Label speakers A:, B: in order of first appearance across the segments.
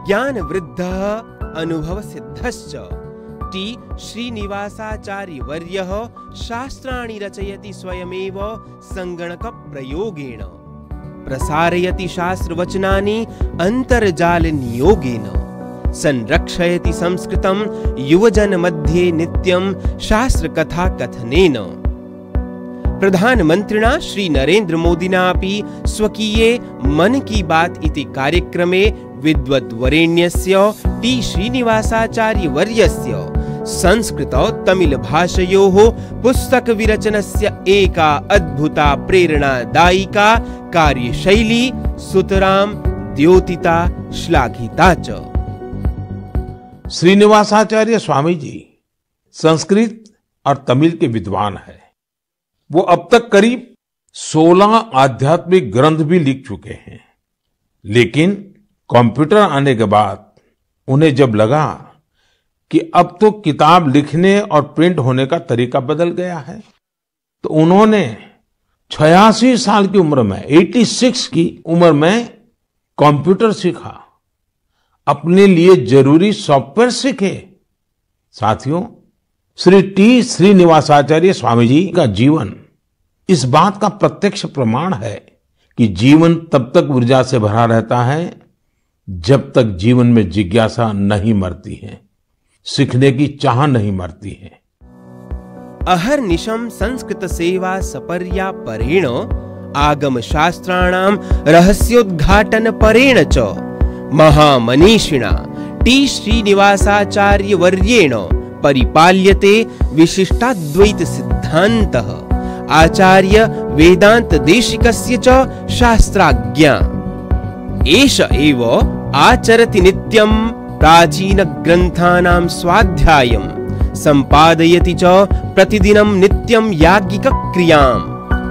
A: ज्ञानवृद्धः अनुभवसिद्धश्च T श्रीनिवासाचार्यवर्यः शास्त्राणि रचयति स्वयमेव सङ्गणकप्रयोगेण प्रसारयति शास्त्रवचनानि अन्तर्जालनियोगेन संरक्षयति संस्कृतं युवजनमध्ये नित्यं शास्त्रकथाकथनेन। प्रधानमन्त्रिणा श्री नरेन्द्र मोदिना अपि स्वकीये मन की बात इति कार्यक्रमे विद्वद्वरेण्यस्य टी श्रीनिवासाचार्यवर्यस्य संस्कृत तमिल भाषयोः पुस्तकविरचनस्य एका अद्भुता प्रेरणादायिका कार्यशैली सुतरां द्योतिता श्लाघिता च।
B: श्रीनिवासाचार्य स्वामी जी संस्कृत और तमिल के विद्वान हैं। वो अब तक करीब 16 आध्यात्मिक ग्रंथ भी लिख चुके हैं, लेकिन कंप्यूटर आने के बाद उन्हें जब लगा कि अब तो किताब लिखने और प्रिंट होने का तरीका बदल गया है, तो उन्होंने 86 साल की उम्र में 86 की उम्र में कंप्यूटर सीखा, अपने लिए जरूरी सॉफ्टवेयर सीखे। साथियों, श्री टी श्रीनिवासाचार्य स्वामी जी का जीवन इस बात का प्रत्यक्ष प्रमाण है कि जीवन तब तक ऊर्जा से भरा रहता है जब तक जीवन में जिज्ञासा नहीं मरती है, सीखने की चाह नहीं मरती है।
A: अहर्निशं संस्कृत सेवा सपर्या परेण आगम शास्त्राणां रहस्योद्घाटन परेण च महामनीषिणा टी श्रीनिवासाचार्य वर्येण परिपाल्यते विशिष्टाद्वैत सिद्धान्तः आचार्य वेदांत देशिकस्य च शास्त्राज्ञा एष एव आचरति नित्यं प्राचीन ग्रन्थानां स्वाध्यायं संपादयति च प्रतिदिनं नित्यं याज्ञिक क्रियां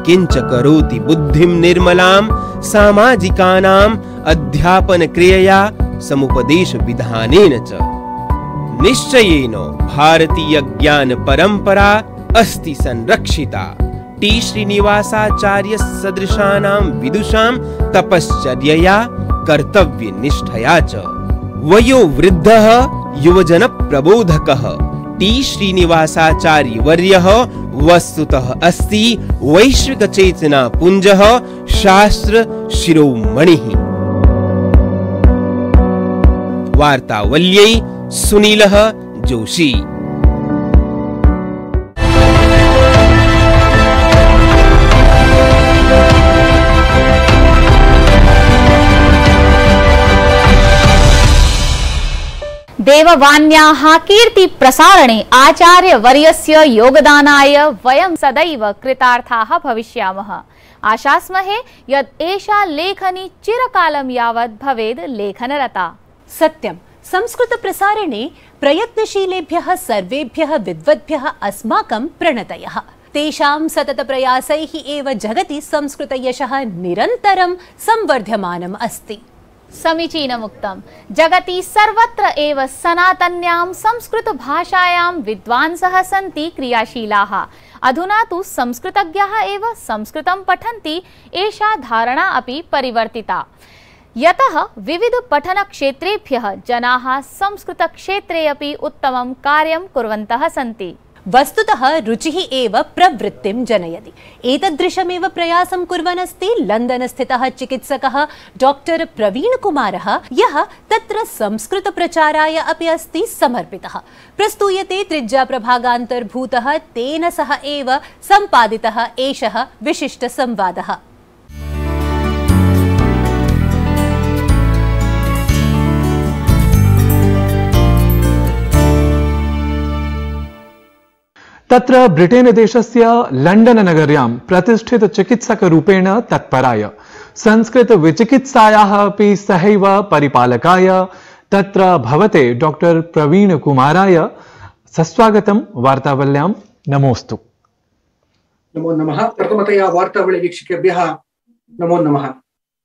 A: किंच करोति बुद्धिं निर्मलां सामाजिकानां अध्यापन क्रियया समुपदेश विधानेन च। निश्चयेन भारतीय ज्ञान परंपरा अस्ति संरक्षिता टी श्रीनिवासाचार्य सदृशानां विदुषां तपश्चर्यया कर्तव्य निष्ठया च। वयोवृद्धः युवजन प्रबोधकः टी श्रीनिवासाचार्य वर्यः वस्तुतः अस्ति वैश्विक चेतना पुंजः शास्त्र शिरोमणिः। वार्तावल्यै सुनीलः जोशी।
C: देववाण्याः कीर्ति प्रसारणे आचार्य वर्यस्य योगदानाय वयं सदैव कृतार्थाः भविष्यामः। आशास्महे यत् एषा लेखनी चिरकालं यावत् भवेद् लेखनरता।
D: सत्यं, संस्कृत प्रसारणे प्रयत्नशीलेभ्यः सर्वेभ्यः विद्वद्भ्यः अस्माकं प्रणतयः। तेषां सतत प्रयासैः एव जगति संस्कृत यशः निरन्तरं संवर्धमानम् अस्ति।
C: समीचीनमुक्तं। जगति सर्वत्र एव सनातन्यां संस्कृत भाषायां विद्वांसः सन्ति क्रियाशीलाः। अधुना तु संस्कृतज्ञाः एव संस्कृतं पठन्ति एषा धारणा अपि परिवर्तिता, यतः विविध पठनक्षेत्रेभ्यः जनाः संस्कृतक्षेत्रे अपि उत्तमं कार्यं कुर्वन्तः सन्ति।
D: वस्तुतः रुचिः एव प्रवृत्तिं जनयति। एतदृशमेव प्रयासं कुर्वन् अस्ति लण्डन् स्थितः चिकित्सकः डॉक्टर प्रवीण कुमारः, यः तत्र संस्कृत प्रचाराय अपि अस्ति समर्पितः। प्रस्तूयते त्रिज्या प्रभागान्तर्भूतः तेन सह एव सम्पादितः एषः विशिष्ट संवादः।
E: तत्र ब्रिटेन देशस्य लण्डन नगर्यां प्रतिष्ठित चिकित्सकरूपेण तत्पराय संस्कृत विचिकित्सायाः अपि सहैव परिपालकाय तत्र भवते डॉक्टर प्रवीण कुमाराय सस्वागतं वार्तावल्यां। नमोस्तु।
F: नमो नमः। प्रथमतया वार्तावली वीक्षकेभ्यः नमो नमः।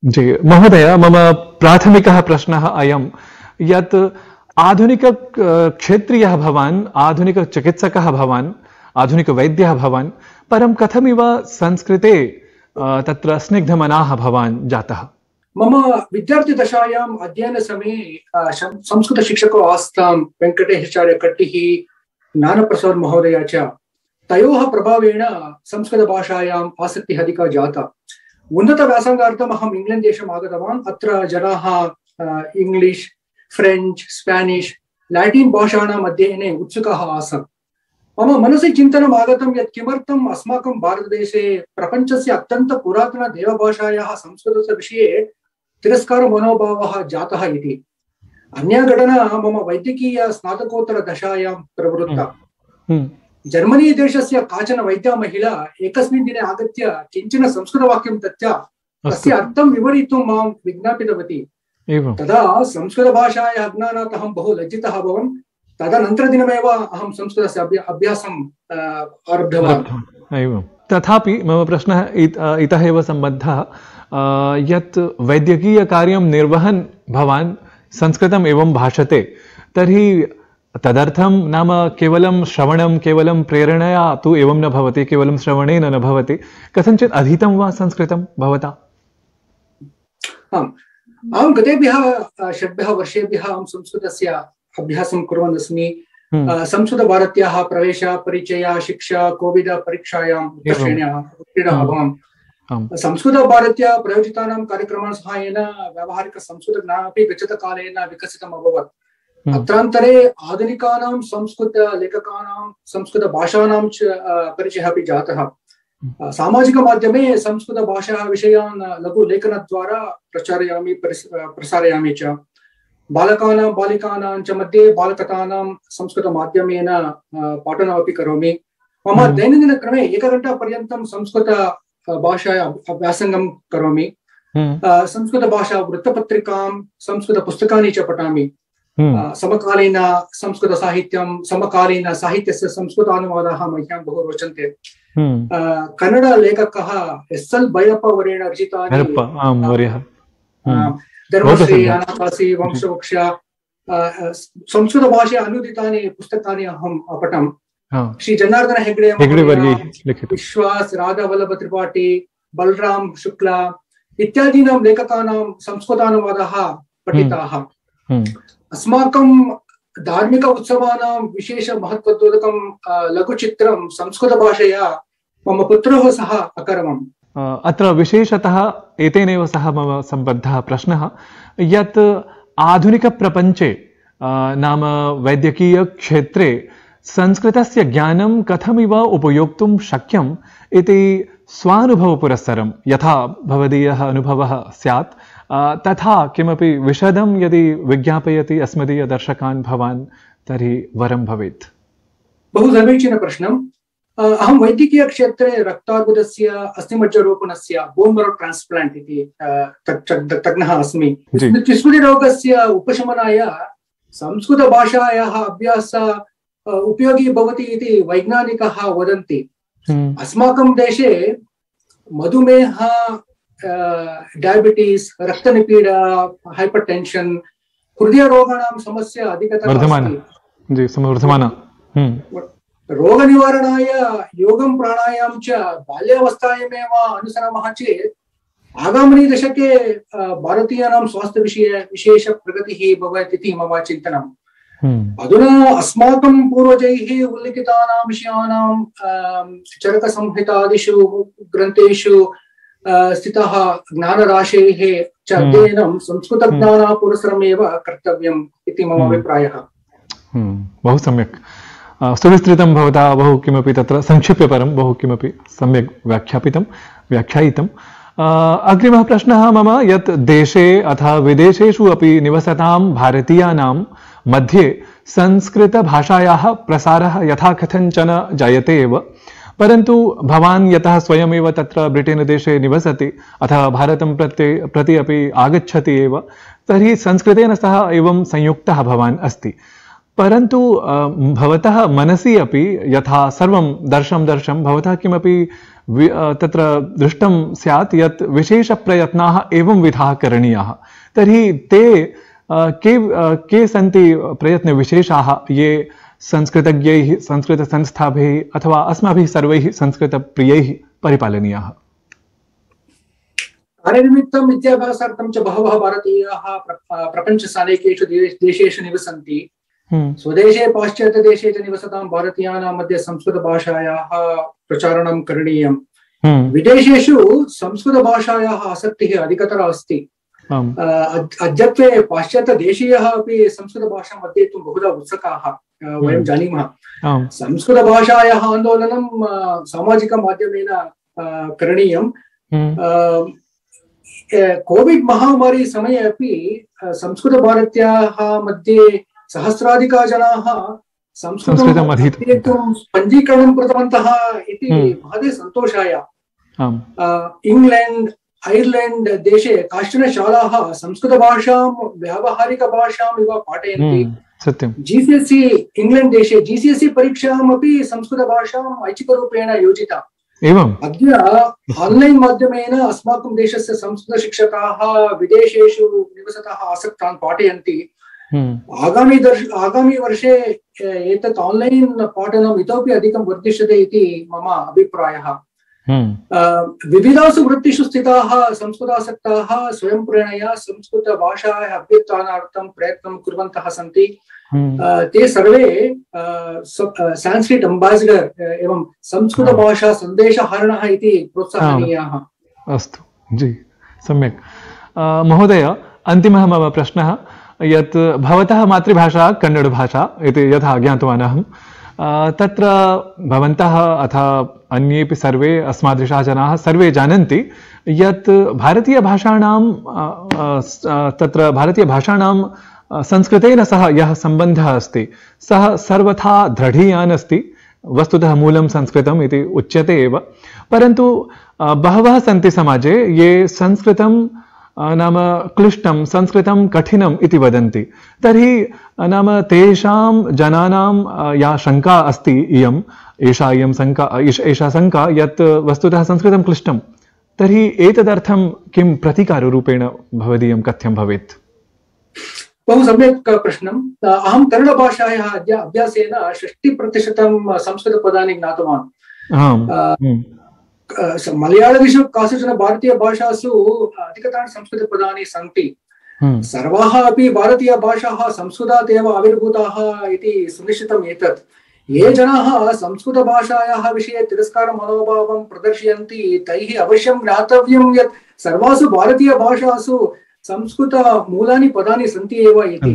E: जी महोदय, मम प्राथमिकः प्रश्नः अयं यत् आधुनिक क्षेत्रीयः भवान्, आधुनिक चिकित्सकः भवान्, आधुनिक वैद्यः भवान्, परं कथमिव संस्कृते तत्र स्निग्धमनाः भवान् जातः?
F: मम विद्यार्थिदशायाम् अध्ययनसमये संस्कृतशिक्षको आस्तां वेङ्कटेशाचार्य कट्टिः, ज्ञानप्रसाद महोदय च, तयोः प्रभावेण संस्कृतभाषायाम् आसक्तिः अधिका जाता। उन्नतव्यासङ्गार्थम् अहम् इंग्लैण्ड् देशम् आगतवान्। अत्र जनाः इंग्लिश्, फ्रेञ्च्, स्पेनिश्, लैटिन् भाषाणाम् अध्ययने उत्सुकाः आसन्। मम मनसि चिन्तनम् आगतं यत् किमर्थम् अस्माकं भारतदेशे प्रपञ्चस्य अत्यन्त पुरातन देवभाषायाः संस्कृतस्य विषये तिरस्कारमनोभावः जातः इति। अन्या घटना मम वैद्यकीय स्नातकोत्तरदशायां प्रवृत्ता। जर्मनी देशस्य काचन वैद्या महिला एकस्मिन् दिने आगत्य किञ्चन संस्कृतवाक्यं दत्त्वा तस्य अर्थं विवरितुं मां विज्ञापितवती। तदा संस्कृतभाषायाः ज्ञानात् अहं बहु लज्जितः अभवम्। तदनन्तरदिनमेव अहं संस्कृतस्य अभ्यासम् आरब्धवान्।
E: तथापि मम प्रश्नः इतः एव सम्बद्धः, यत् वैद्यकीयकार्यं निर्वहन् भवान् संस्कृतम् एवं भाषते, तर्हि तदर्थं नाम केवलं श्रवणं, केवलं प्रेरणया तु एवं न भवति, केवलं श्रवणेन न भवति, कथञ्चित् अधीतं वा संस्कृतं भवता?
F: आम्, अहं गतेभ्यः 6 वर्षेभ्यः अहं संस्कृतस्य अभ्यासं कुर्वन् अस्मि। संस्कृतभारत्याः प्रवेश, परिचय, शिक्षा, कोविड परीक्षायां उत्तीर्णः अभवम्। संस्कृतभारत्या प्रयोजितानां कार्यक्रमाणां सहायेन व्यावहारिकसंस्कृतज्ञानमपि गच्छतकालेन विकसितम् अभवत्। अत्रान्तरे आधुनिकानां संस्कृतलेखकानां, संस्कृतभाषाणां च परिचयः अपि जातः। सामाजिकमाध्यमे संस्कृतभाषायाः विषयान् लघुलेखनद्वारा प्रचारयामि, प्रसारयामि च। बालकानां, बालिकानां च मध्ये बालकथानां संस्कृतमाध्यमेन पाठनमपि करोमि। मम दैनन्दिनक्रमे 1 घण्टापर्यन्तं संस्कृतभाषायाः अभ्यासं करोमि। संस्कृतभाषा वृत्तपत्रिकां, संस्कृतपुस्तकानि च पठामि। समकालीन संस्कृतसाहित्यं, समकालीन साहित्यस्य संस्कृतानुवादाः मह्यं बहु रोचन्ते। कन्नड लेखकः SL भैरप्पा वर्येण रचितानि धर्मश्री, अनाकासी, वंशवृक्ष संस्कृतभाषया अनुदितानि पुस्तकानि अहं पठम्। श्री जनार्दन हेगड़े, विश्वास, राधावल्लभ त्रिपाठी, बलराम शुक्ला इत्यादीनां लेखकानां संस्कृतानुवादाः पठिताः। अस्माकं धार्मिक उत्सवानां विशेष महत्वद्योतकं लघुचित्रं संस्कृतभाषया मम पुत्रः सह अकरवम्।
E: अत्र विशेषतः एतेनैव सह मम सम्बद्धः प्रश्नः, यत् आधुनिकप्रपञ्चे नाम वैद्यकीयक्षेत्रे संस्कृतस्य ज्ञानं कथमिव उपयोक्तुं शक्यम् इति स्वानुभवपुरस्सरं यथा भवदीयः अनुभवः स्यात्, तथा किमपि विशदं यदि विज्ञापयति अस्मदीय दर्शकान् भवान्, तर्हि वरं भवेत्।
F: बहु समीचीनं प्रश्नम्। अहं वैद्यकीयक्षेत्रे रक्तार्बुदस्य, अस्थिमज्जरोपणस्य, बोन् मरो ट्रान्स्प्लाण्ट् इति तज्ञः अस्मि। विस्मृतिरोगस्य उपशमनाय संस्कृतभाषायाः अभ्यास उपयोगी भवति इति वैज्ञानिकाः वदन्ति। अस्माकं देशे मधुमेह, डायबिटीस्, रक्तनिपीडा, हाइपरटेन्शन, हृदयरोगाणां समस्या अधिकतरा अस्ति। रोगनिवारणाय योगं, प्राणायामं च बाल्यावस्थायामेव अनुसरामः चेत् आगामिनि दशके भारतीयानां स्वास्थ्यविषये विशेष प्रगतिः भवेत् इति मम चिन्तनम्। अधुना अस्माकं पूर्वजैः उल्लिखितानां विषयाणां चरकसंहितादिषु ग्रन्थेषु स्थितः ज्ञानराशेः च अध्ययनं संस्कृतज्ञानापुरस्सरमेव कर्तव्यम् इति मम अभिप्रायः।
E: बहु सम्यक्, सुविस्तृतं भवता बहु किमपि तत्र संक्षिप्य परं बहु किमपि सम्यक् व्याख्यायितम्। अग्रिमः प्रश्नः मम, यत् देशे अथवा विदेशेषु अपि निवसतां भारतीयानां मध्ये संस्कृतभाषायाः प्रसारः यथा कथञ्चन जायते एव, परन्तु भवान् यतः स्वयमेव तत्र ब्रिटेन् देशे निवसति अथवा भारतं प्रति अपि आगच्छति एव, तर्हि संस्कृतेन सह एवं संयुक्तः भवान् अस्ति। परन्तु भवतः मनसि अपि यथा सर्वं दर्शं भवतः किमपि तत्र दृष्टं स्यात् यत् विशेषप्रयत्नाः एवं विधाः करणीयाः, तर्हि ते के सन्ति प्रयत्नविशेषाः ये संस्कृतज्ञैः, संस्कृतसंस्थाभिः अथवा अस्माभिः सर्वैः संस्कृतप्रियैः परिपालनीयाः?
F: कार्यनिमित्तं विद्याभ्यासार्थं च बहवः भारतीयाः प्रपञ्चस्य अनेकेषु देशेषु निवसन्ति। स्वदेशे पाश्चात्यदेशे च निवसतां भारतीयानां मध्ये संस्कृतभाषायाः प्रचारणं करणीयम्। विदेशेषु संस्कृतभाषायाः आसक्तिः अधिकतरा अस्ति। अद्यत्वे पाश्चात्यदेशीयाः अपि संस्कृतभाषाम् अध्येतुं बहुधा उत्सुकाः वयं जानीमः। संस्कृतभाषायाः आन्दोलनं सामाजिकमाध्यमेन करणीयं। कोविड महामारी समये अपि संस्कृतभारत्याः मध्ये सहस्राधिकाः जनाः संस्कृतम् अध्येतुं पञ्जीकरणं कृतवन्तः इति महते सन्तोषाय। इंग्लैंड ऐर्लैंड देशे काश्चन शालाः संस्कृतभाषां व्यावहारिकभाषाम् इव पाठयन्ति।
E: सत्यं।
F: GCSE इंग्लैंड देशे GCSE परीक्षाम् अपि संस्कृतभाषाम् ऐच्छिकरूपेण योजिता।
E: एवम्।
F: अद्य ऑनलाइन माध्यमेन अस्माकं देशस्य संस्कृतशिक्षकाः विदेशेषु निवसतः आसक्तान् पाठयन्ति। आगामी वर्षे एतत् ऑनलाइन पाठनम् इतोपि अधिकं वर्धिष्यते इति मम अभिप्रायः। विविधासु वृत्तिषु स्थिताः संस्कृतासक्ताः स्वयं प्रेरणया संस्कृतभाषायाः अभ्युत्थानार्थं प्रयत्नं कुर्वन्तः सन्ति। ते सर्वे संस्कृत अम्बासिडर एवं संस्कृतभाषा सन्देशहरणः इति प्रोत्साहनीयाः।
E: अस्तु जी, सम्यक्। महोदय, अन्तिमः मम प्रश्नः यत् भवतः मातृभाषा कन्नडभाषा इति यथा ज्ञातवान् अहं, तत्र भवन्तः अथ अन्येपि सर्वे अस्मादृशाः जनाः सर्वे जानन्ति यत् भारतीयभाषाणां तत्र भारतीयभाषाणां संस्कृतेन सह यः सम्बन्धः अस्ति सः सर्वथा दृढीयान् अस्ति। वस्तुतः मूलं संस्कृतम् इति उच्यते एव, परन्तु बहवः सन्ति समाजे ये संस्कृतं नाम क्लिष्टं, संस्कृतं कठिनम् इति वदन्ति। तर्हि नाम तेषां जनानां या शङ्का अस्ति एषा शङ्का यत् वस्तुतः संस्कृतं क्लिष्टं, तर्हि एतदर्थं किं प्रतिकाररूपेण भवदीयं कथ्यं भवेत्?
F: बहु सम्यक् प्रश्नम्। अहं कन्नडभाषायाः अभ्यासेन 60% संस्कृतपदानि ज्ञातवान्। मलयाळदिषु कासुचन भारतीयभाषासु अधिकतराणि संस्कृतपदानि सन्ति। सर्वाः अपि भारतीयभाषाः संस्कृतात् एव आविर्भूताः इति सुनिश्चितम् एतत्। ये जनाः संस्कृतभाषायाः विषये तिरस्कारमनोभावं प्रदर्शयन्ति तैः अवश्यं ज्ञातव्यं यत् सर्वासु भारतीयभाषासु संस्कृतमूलानि पदानि सन्ति एव इति।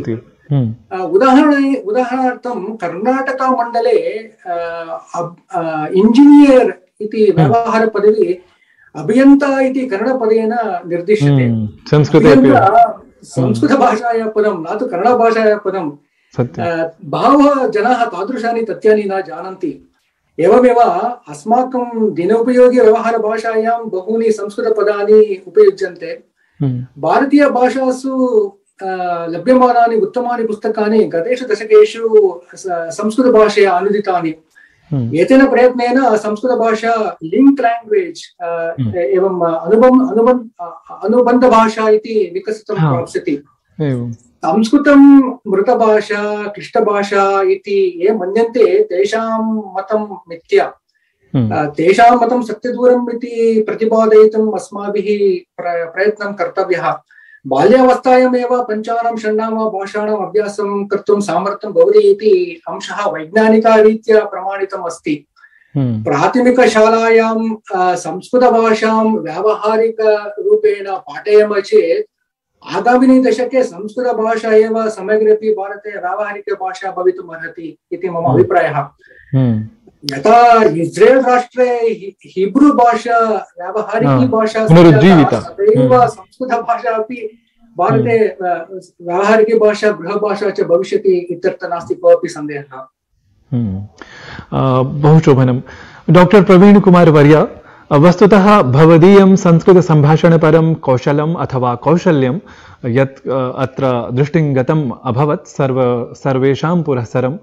F: उदाहरणार्थं कर्णाटकमण्डले इंजिनियर् इति व्यवहारपदवी अभियन्ता इति कन्नडपदेन निर्दिश्यते। संस्कृतभाषायाः पदं, न तु कन्नडभाषायाः पदं। बहवः जनाः तादृशानि तथ्यानि न जानन्ति। एवमेव अस्माकं दिनोपयोगी व्यवहारभाषायां बहूनि संस्कृतपदानि उपयुज्यन्ते। भारतीयभाषासु लभ्यमानानि उत्तमानि पुस्तकानि गतेषु दशकेषु संस्कृतभाषया अनुदितानि। एतेन प्रयत्नेन संस्कृतभाषा लिंक लैंग्वेज एवं अनुबन्धभाषा इति विकसितं प्राप्स्यति। संस्कृतं मृतभाषा, क्लिष्टभाषा इति ये मन्यन्ते तेषां मतं मिथ्या। तेषां मतं सत्यदूरम् इति प्रतिपादयितुम् अस्माभिः प्रयत्नं कर्तव्यः। बाल्यावस्थायामेव पञ्चानां षण्णां वा भाषाणाम् अभ्यासं कर्तुं सामर्थ्यं भवति इति अंशः वैज्ञानिकरीत्या प्रमाणितम् अस्ति। प्राथमिकशालायां संस्कृतभाषां व्यावहारिकरूपेण पाठयामः चेत् आगामिनि दशके संस्कृतभाषा एव समग्रेपि भारते व्यावहारिकभाषा भवितुम् अर्हति इति मम अभिप्रायः। यथा इस्रेल् राष्ट्रे हिब्रू भाषा व्यावहारिकी भाषा तथैव संस्कृतभाषा अपि भारते व्यावहारिकी भाषा गृहभाषा च भविष्यति इत्यत्र नास्ति कोऽपि सन्देहः।
E: बहु शोभनं। डॉक्टर प्रवीण कुमार वर्य, वस्तुतः भवदीयं संस्कृतसम्भाषणपरं कौशलम् अथवा कौशल्यं यत् अत्र दृष्टिं गतम् अभवत् सर्वेषां पुरःसरं,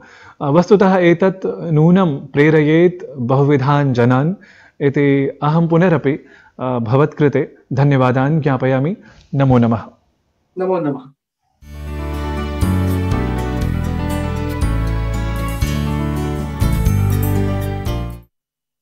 E: वस्तुतः एतत् नूनं प्रेरयेत् बहुविधान् जनान् इति अहं पुनरपि भवत्कृते धन्यवादान् ज्ञापयामि। नमो नमः।
F: नमो नमः।